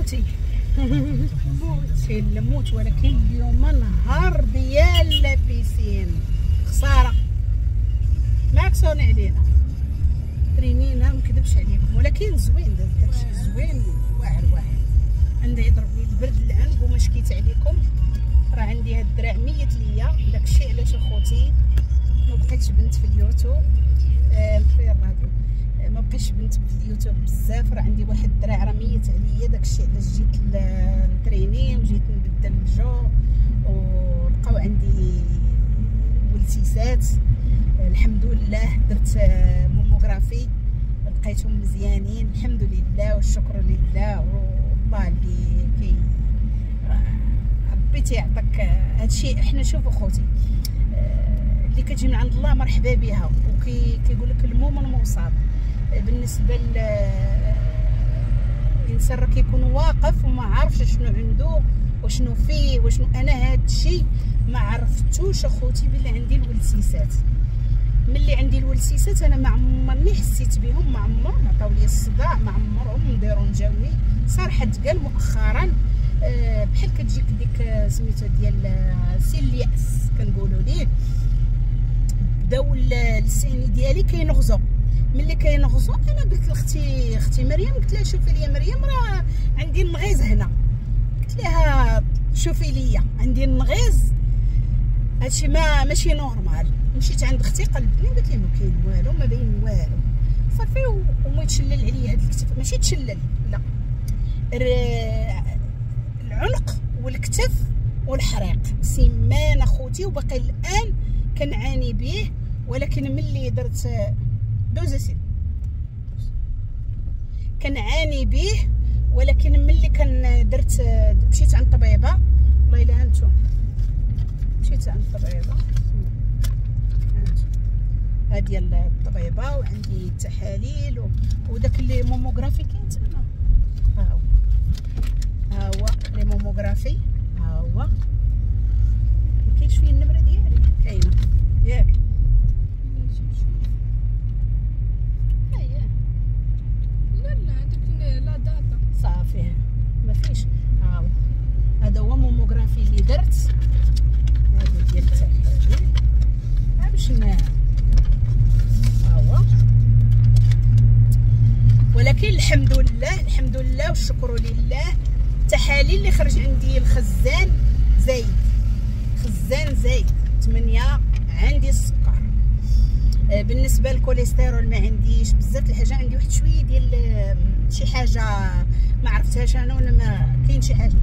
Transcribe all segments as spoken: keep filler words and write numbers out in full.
اخوتي، كاين الموت، ولكن اليوم نهار ديال la piscine. خسارة ما كسوني علينا ترينينا، ما نكذبش عليكم، ولكن زوين داكشي زوين واعر واعر. عندي يضرب لي البرد العنق وما شكيت عليكم، راه عندي هاد الدراع ميت ليا. داكشي علاش اخوتي ما بقيتش بنت في اليوتيوب، آه في الراديو ما بقيتش بنت في اليوتيوب بزاف، راه عندي واحد الدراع راه ميت عليا. داكشي علاش جيت نتريني وجيت نبدل الجو، ولقاو عندي ولتيسات الحمد لله. درت mammographie لقيتهم مزيانين الحمد لله والشكر لله. والله اللي كي ربي تيعطيك هادشي. حنا شوفوا خوتي اللي كتجي من عند الله مرحبا بها، وكي كيقول لك المؤمن مصاب. بالنسبة للانسان راه كيكون واقف وما عارفش شنو عنده وشنو فيه وشنو. انا هادشي ما عرفتوش اخوتي بلي عندي الولسيسات. ملي عندي الولسيسات انا ما عمرني حسيت بهم، ما عمرهم عطاو لي الصداع، ما عمرهم ديرونجاوني صراحة. تقال مؤخرا بحال كتجيك ديك سميتو ديال سن الياس كنقولوا ليه، بداو السيني ديالي كينغزو. ملي كينغزو انا قلت لاختي اختي مريم، قلت لها شوفي لي مريم راه عندي النغيز هنا، قلت لها شوفي لي عندي النغيز، هادشي ما ماشي normal. مشيت عند اختي قلبتني قالت لي ما كاين والو، ما باين والو صافي. وما يتشلل عليا هاد الكتف، ماشي تشلل لا، العنق والكتف والحريق سيمان اخوتي، وباقي الان كنعاني به. ولكن ملي درت دوز سين كنعاني به، ولكن ملي كان درت مشيت عند الطبيبة، والله الا انتم مشيت عند الطبيبة هادي ديال الطبيبة، وعندي التحاليل وداك les mammographies كاين تما. ها هو ها هو les mammographies، ها هو ما كاينش فيه النمرة ديالي كاينه ياك. لا لا هذاك la date صافي ما فيش. ها هو هذا هو mammographie اللي درت، هذا ديال التحاليل ها باش ها هو. ولكن الحمد لله الحمد لله والشكر لله، التحاليل اللي خرج عندي الخزان زايد، خزان زايد ثمانية، عندي السكر. بالنسبة للكوليسترول ما عنديش بزاف الحاجة، عندي واحد شوية ديال شي حاجة ما عرفتهاش انا ولا ما كاين شي حاجة.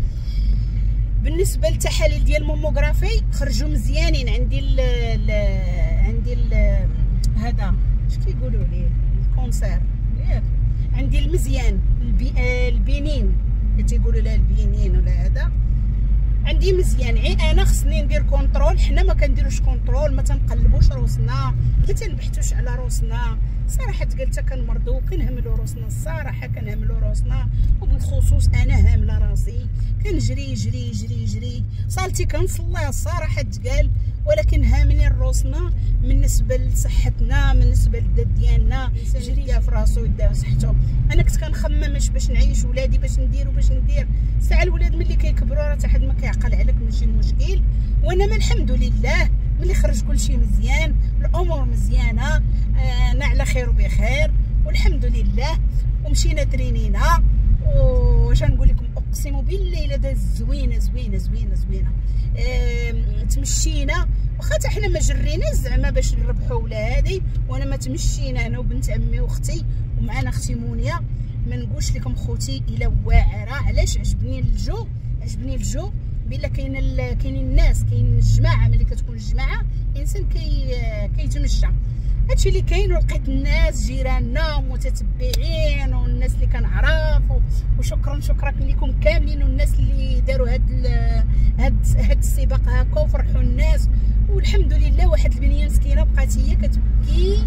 بالنسبة للتحاليل ديال ال mammographie خرجوا مزيانين، عندي ال ال عندي ال هذا اش كيقولوا ليه ال cancer ياك، عندي المزيان البي ال bénin تيقولوا لها ال bénin ولا هذا، عندي مزيان. عي انا خصني ندير contrôle، حنا ما كنديروش contrôle، ما تنقلبوش روسنا، ما تنبحثوش على روسنا صراحة. قلت كنمرضوا كنهملوا روسنا الصراحة، كنهملوا روسنا، وبالخصوص انا هامله راسي، كنجري جري جري جري صالتي كنصليها الصراحة تقال، ولكن هاملين روسنا بالنسبة لصحتنا، بالنسبة للذات ديالنا. جري في راسو يدير صحته. انا كنت كنخمم باش نعيش ولادي، باش ندير وباش ندير. ساعة الولاد ملي كيكبروا راه حتى حد ما كيعقل عليك، ماشي مشكل. وانا ما الحمد لله ملي خرج كلشي مزيان، الامور مزيانه، انا على خير وبخير والحمد لله. ومشينا ترينينا، واش نقول لكم اقسم بالله الا داز زوينة زوينة زوينة زوينة. تمشينا واخا حتى حنا ما جريناش زعما باش نربحوا ولا هادي، وانا ما تمشينا انا وبنت عمي واختي ومعنا اختي مونيا. ما نقولش لكم خوتي الا واعرة. علاش عجبني الجو؟ عجبني الجو بلا كاين كاينين الناس، كاين الجماعة. ملي كتكون الجماعة الانسان كي كيتمشى، هادشي اللي كاين. ولقيت الناس جيراننا ومتتبعين والناس اللي كنعرف، وشكرا شكرا لكم كاملين، والناس اللي داروا هاد هاد هاد السباق هكا وفرحوا الناس والحمد لله. واحد البنية مسكينه بقات هي كتبكي،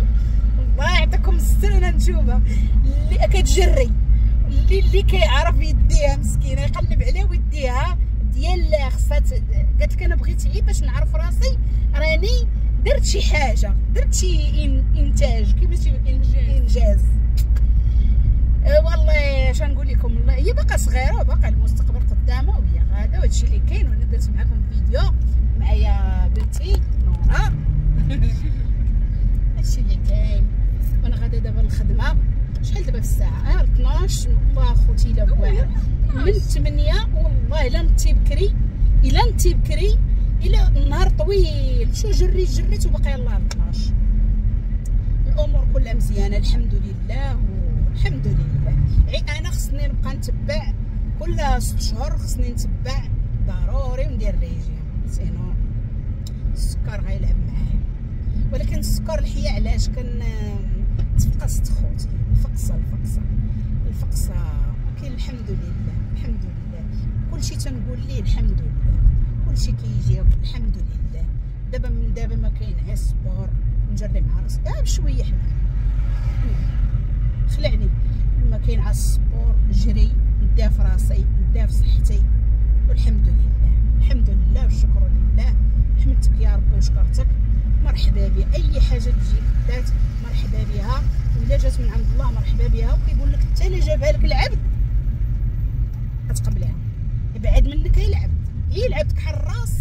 الله يعطيكم الستر، انا نشوفها اللي كتجري، اللي اللي كيعرف يديها مسكينه يقلب عليها ويديها ديال خصها. قالت لك انا بغيت غير باش نعرف راسي راني درت شي حاجة، درت شي انتاج، كيفاش انجاز. أه والله اش نقول لكم، هي باقا صغيرة وباقا بنتي نورا. هادشي اللي كاين. وانا غادا دابا للخدمة. شحال دابا في الساعة؟ اه اثناش. والله اخوتي الا واعر من ثمانية، والله الا نتي بكري، الا نتي بكري، الا النهار طويل. شو جريت جريت وباقي يلاه اثناش. الامور كلها مزيانه الحمد لله، والحمد لله. عي انا خصني نبقى نتبع كل ست شهور، خصني نتبع ضروري وندير régime، sinon السكر غيلعب معايا. ولكن السكر الحياة علاش كن تفقست خوتي، الفقصه الفقصه الفقصه. ولكن الحمد لله الحمد لله، كلشي تنقول ليه الحمد لله، كلشي كيجي الحمد لله. دابا من دابا ما كاين غير ال sport، نجري مع راسي اه بشوية. حنا خلعني ما كاين على ال sport، نجري نديها في راسي، نديها في صحتي، والحمد لله الحمد لله والشكر لله. حمدتك يا ربي وشكرتك. مرحبا بي، اي حاجة تجي دات مرحبا بها، ولا جات من عند الله مرحبا بها. وكيقول لك حتى الا جابها لك العبد غتقبلها، بعد منك هي العبد، هي العبد كحل الراس.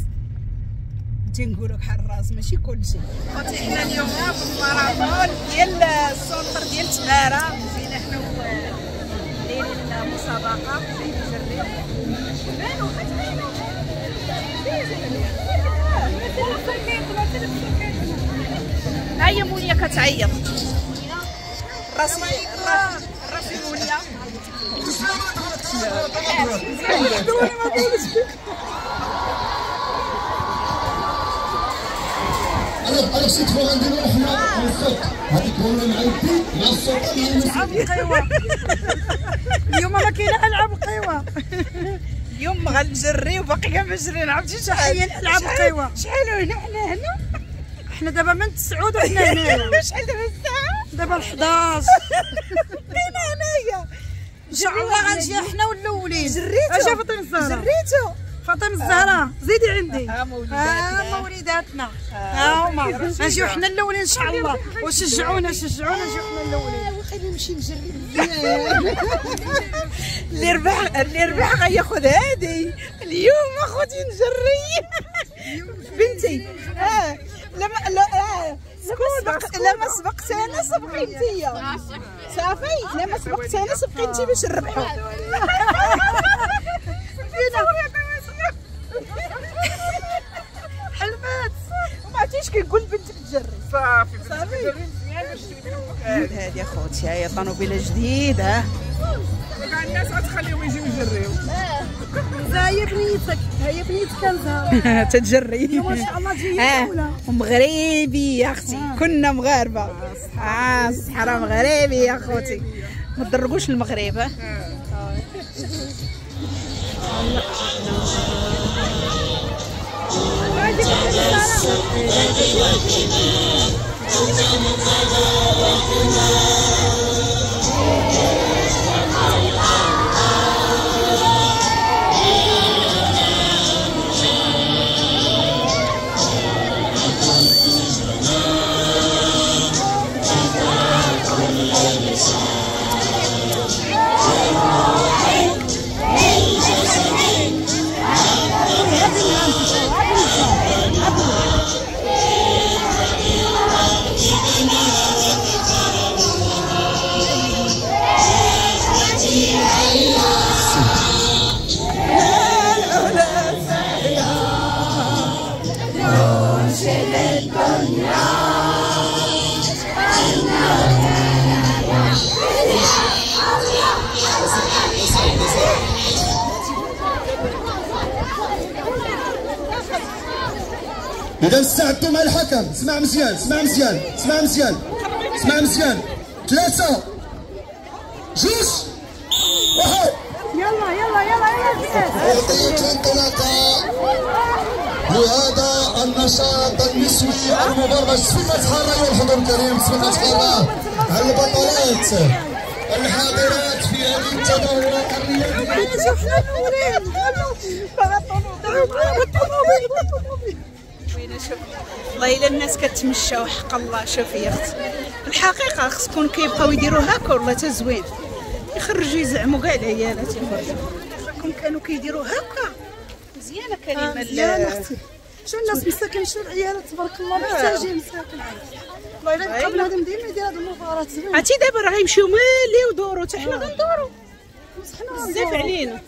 تنقولوا كحل الراس ماشي كلشي. خوتي حنا اليوم في الماراطون ديال ال centre ديال تماره، جينا حنا دايرين المسابقة، جايين نجريو. بانو كتبانو هيا مونيا كتعيط. راسي راسي مونيا. انا cette fois غنديرو حنا الصوت، هذيك هو مع يدي مع الصوت مع القيوه. اليوم ما كاينه العاب القيوه، اليوم غنجري وباقي كنجري. عرفتي شحال العاب القيوه؟ شحال هنا حنا هنا حنا دابا من تسعود وحنا هنا. شحال دابا الساعة؟ دابا الحداش. بقينا هنايا ان شاء الله غنجي حنا والاولين. جريتو اجا فاطمة الزهراء، جريتو فاطمة الزهراء زيدي عندي. ها ها وليداتنا، ها هما غنجيو حنا الاولين ان شاء الله. وشجعونا شجعونا نجيو حنا الاولين. وخليني نمشي نجري مزيان. اللي ربح اللي ربح غياخذ هادي اليوم اخوتي. نجري بنتي. اه لما لا اه سبق لما سبقت انا سبقي انتيا صافي. لما سبقت انا سبقي انتي باش نربحو. حلمات وما عرفتيش كيقول بنتك تجري. صافي صافي تجري مزيان باش تولي امك. هادي اخوتي هاي طوموبيله جديدة، كاع الناس غتخليهم يجيو يجريو. هي بنيتك، هي بنيتك كنزه تتجري اليوم ان شاء الله تجي الاولى. ومغربيه اختي، كنا مغاربة. اه الصحراء مغربية اخوتي، ما تضربوش المغرب. اه إذا استعدتوا مع الحكم. اسمع مزيان اسمع مزيان اسمع مزيان اسمع مزيان. ثلاثة جوج واحد. يلا يلا يلا يلا. أعطيت الانطلاقة لهذا النشاط النسوي المبرمج. بسم الله أيها الحضور الكريم، بسم الله على البطلات الحاضرات في هذه التظاهرات الرياضية. والله الا الناس كتمشى وحق الله. شوفي يا اختي الحقيقة خصكم كيبقاو يديروا هكا والله تا زوين، يخرجوا يزعموا كاع العيالات يخرجوا. كون كانوا كيديروا هكا مزيانه كريمة. مزيانه اختي. شو الناس مساكن، شو العيالات تبارك الله محتاجين مساكن. والله الا بقى بنادم ديما يدير هاد المباراة زوينة. عرفتي دابا راه غيمشيو ملي ودورو، حتى حنا غندورو بزاف علينا.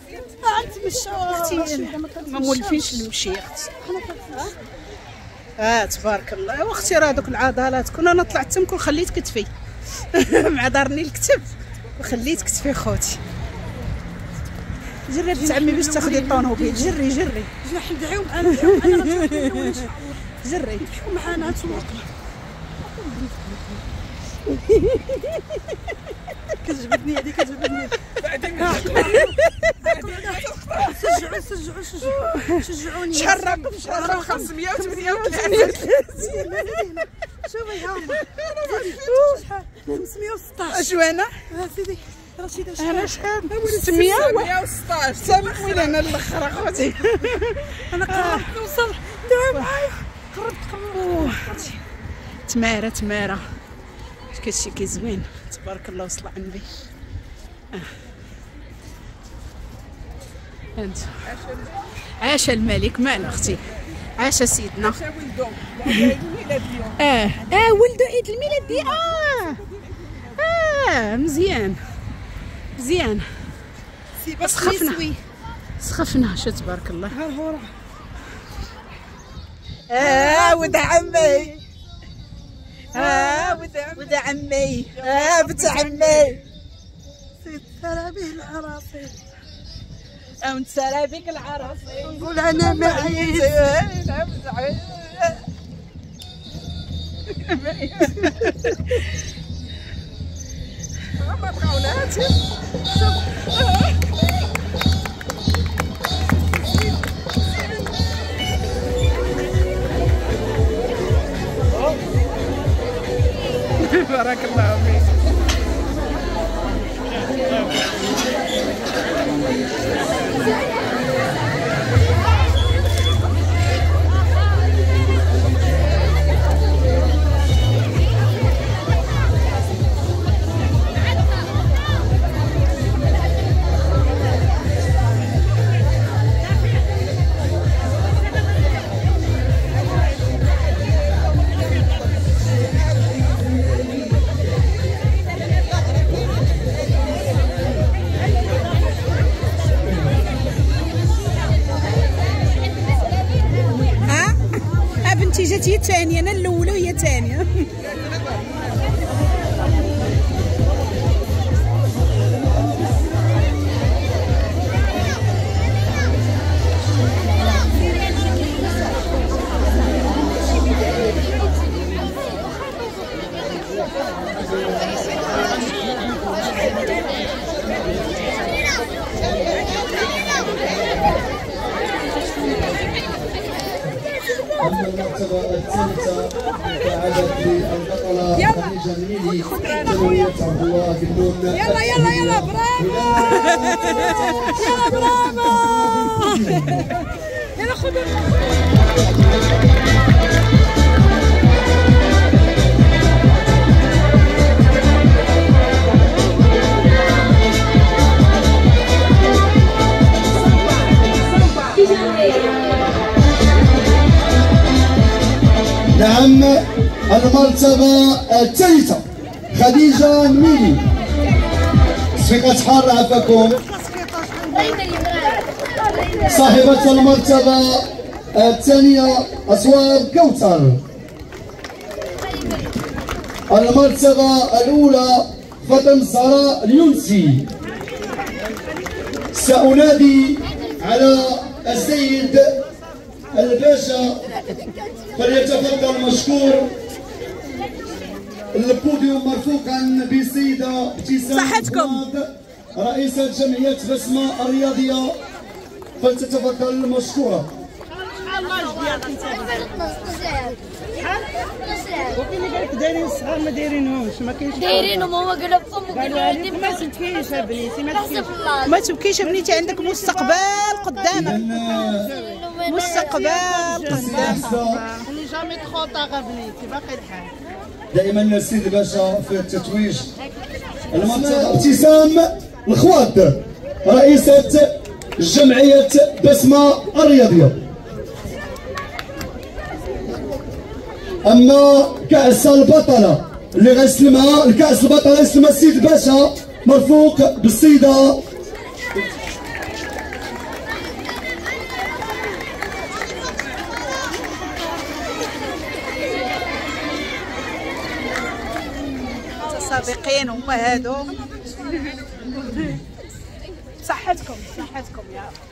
غنتمشاو اختي، ما مولفينش المشي اختي. اه تبارك الله. واختي راه دوك العضلات، كون انا طلعت تم كون خليت كتفي مع دارني الكتف وخليت كتفي خوتي. جري بنت عمي باش تاخدي الطوموبيل، جري جري. جنا ندعيو معانا، ندعيو معانا، جري ندعيو معانا تسوق. كتجبدني هذه، كتجبدني. شجعوا شجعوا شجعوا شجعوني. شحال الرقم؟ شحال الرقم؟ خمسمية وثمانية وثلاثين. شوفي ها هما شحال، خمسمية وستطاش. شو انا؟ سيدي رشيدة شحال؟ انا شحال؟ ستمية وستطاش. سامحوني انا الاخر اخوتي. انا قربت نوصل، دعوا معايا، قربت قربت. تماره تماره، كلشي كيزوين تبارك الله وصل على النبي. انت عاش الملك، مال اختي، عاش سيدنا. عاش ولدو عيد الميلاد اليوم. اه اه ولدو عيد الميلاد دي. اه اه مزيان مزيان. سخفنا سخفنا، شو تبارك الله. اه ولد عمي، اه ولد عمي، اه بنت عمي. سيد سرابيه العراصي، اه سرابيك العراصي. نقول انا معيت. ما بغاوناش. بارك الله فيك. بنتي جات هي الثانية، انا الاولى وهي الثانية. المرتبة الثالثة تعادت للبطلة خديجة الميلي ثانوية عبد الله بن نون. يلا يلا يلا برافو، يلا برافو، يلا خذوا. نعم المرتبة الثالثة خديجة الميلي. صفقة حارة عفاكم. صاحبة المرتبة الثانية أسوار كوثر. المرتبة الأولى فاطمة الزهراء اليونسي. سأنادي على السيد الباشا فليتفضل مشكور. البوديوم مرفوقا بالسيدة ابتسام رئيسة جمعية بسمة الرياضية، فلتتفضل مشكورة. وكاين اللي قال لك دايرين الصغار ما دايرينهمش، ما كاينش دايرينهم هما قالوا فم قالوا لك ما تبكيش بنيتي، ما تبكيش ما تبكيش بنيتي، عندك مستقبل قدامك، مستقبل قدامك. n'est jamais trop tard بنيتي، باقي الحال. دائما السيد الباشا في التتويج. المرتبة ابتسام الخواض رئيسة جمعية بسمة الرياضية. اما كاس البطلة اللي غيسلمها الكاس البطلة يسلمها السيد الباشا مرفوق بالسيده المتسابقين هما هادو. صحتكم صحتكم يا رب.